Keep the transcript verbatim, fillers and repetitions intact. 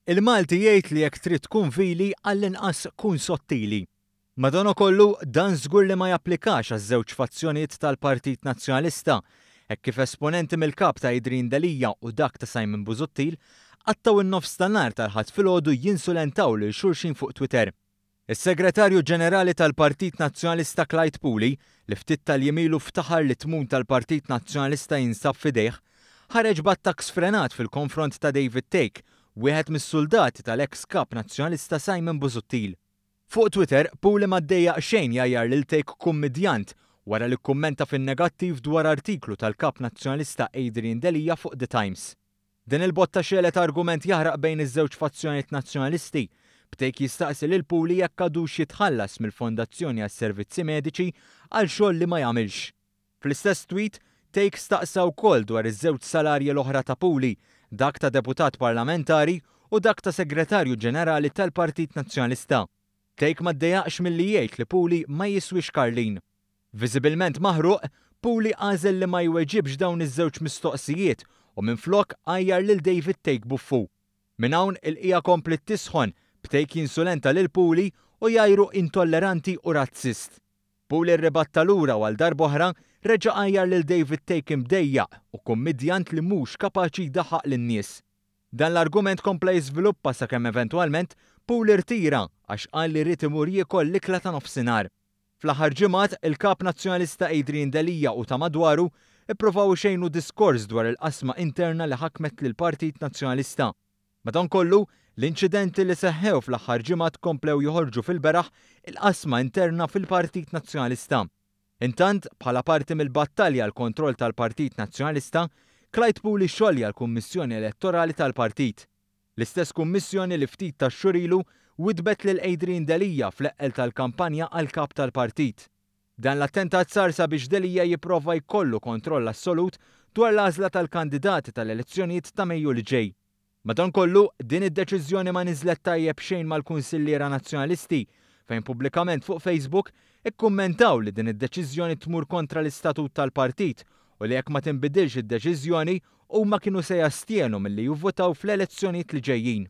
Il-Malti jgħid li jekk trid tkun vili, għall-inqas kun sottili. Madankollu, dan żgur li ma japplikax għaż-żewġ fazzjonijiet tal-Partit Nazzjonalista, hekk kif esponenti mill-kap ta' Adrian Delia u dak ta' Simon Busuttil qattgħu n-nofs tan-nhar tal-Ħadd filgħodu jinsulentaw lil xulxin fuq Twitter. Is-Segretarju Ġenerali tal-Partit Nazzjonalista Clyde Puli, li ftit tal-jiem ilu ftaħar li t-tmun tal-Partit Nazzjonalista jinsab f'idejh, ħareġ b'attakk sfrenat fil-konfront ta' David Thake, wieħed mis-suldati tal-eks kap Nazzjonalista Simon Busuttil. Fuq Twitter, Puli ma ddejjaq xejn jgħajjar lil Thake kummidjant wara li kkummenta fin-negattiv dwar artiklu tal-kap Nazzjonalista Adrian Delia fuq The Times. Din il-botta xegħlet argument jaħraq bejn iż-żewġ fazzjonijiet Nazzjonalisti, b'Thake jistaqsi lil Puli jekk għadux jitħallas mill-Fondazzjoni għas-Servizzi Mediċi għal xogħol li ma jagħmilx. Fl-istess tweet, Thake staqsa wkoll dwar iż-żewġ salarji l-oħra ta' Puli, dak ta' deputat parlamentari u dak ta' segretarju ġenerali tal-Partit Nazzjonalista. Thake ma ddejjaqx milli jgħid li Puli ma jiswix karlin. Viżibilment maħruq, Puli għażel li ma jweġibx dawn iż-żewġ mistoqsijiet u minflok għajjar lil David Thake buffu. Minn hawn il-qija kompliet tisħon, b'Thake jinsulenta lil Puli u jgħajru intolleranti u razzist. Puli rribatta lura u għal darb'oħra reġa' għajjar lil David Thake imdejjaq u kummidjant li mhux kapaċi jdaħħaq lin-nies. Dan l-argument kompla jiżviluppa sakemm eventwalment Puli rtira għax qal li ried imur jiekol l-ikla ta' nofsinhar. Fl-aħħar ġimgħat, il-kap Nazzjonalista Adrian Delia u ta' madwaru ippruvaw ixejnu diskors dwar il-qasma interna li ħakmet lill-Partit Nazzjonalista. Madankollu, l-inċidenti li seħħew fl-aħħar ġimgħat komplew joħorġu fil-beraħ il-qasma interna fil-Partit Nazzjonalista. Intant, bħala parti mill-battalja għall-kontroll tal-Partit Nazzjonalista, Clyde Puli xolja l-Kummissjoni Elettorali tal-Partit. L-istess kummissjoni li ftit tax-xhur ilu widbet lil Adrian Delia fl-eqqel tal-kampanja għal kap tal-partit. Dan l-attentat sar sabiex Delia jipprova jkollu kontroll assolut dwar l-għażla tal-kandidati tal-elezzjonijiet ta' Mejju li ġej. Madankollu, din id-deċiżjoni ma niżlet tajjeb xejn mal-kunsilliera Nazzjonalisti, fejn pubblikament fuq Facebook ikkummentaw li din id-deċiżjoni tmur kontra l-istatut tal-partit u li jekk ma tinbidilx id-deċiżjoni huma kienu se jastjenu milli jivvotaw fl-elezzjonijiet li ġejjin.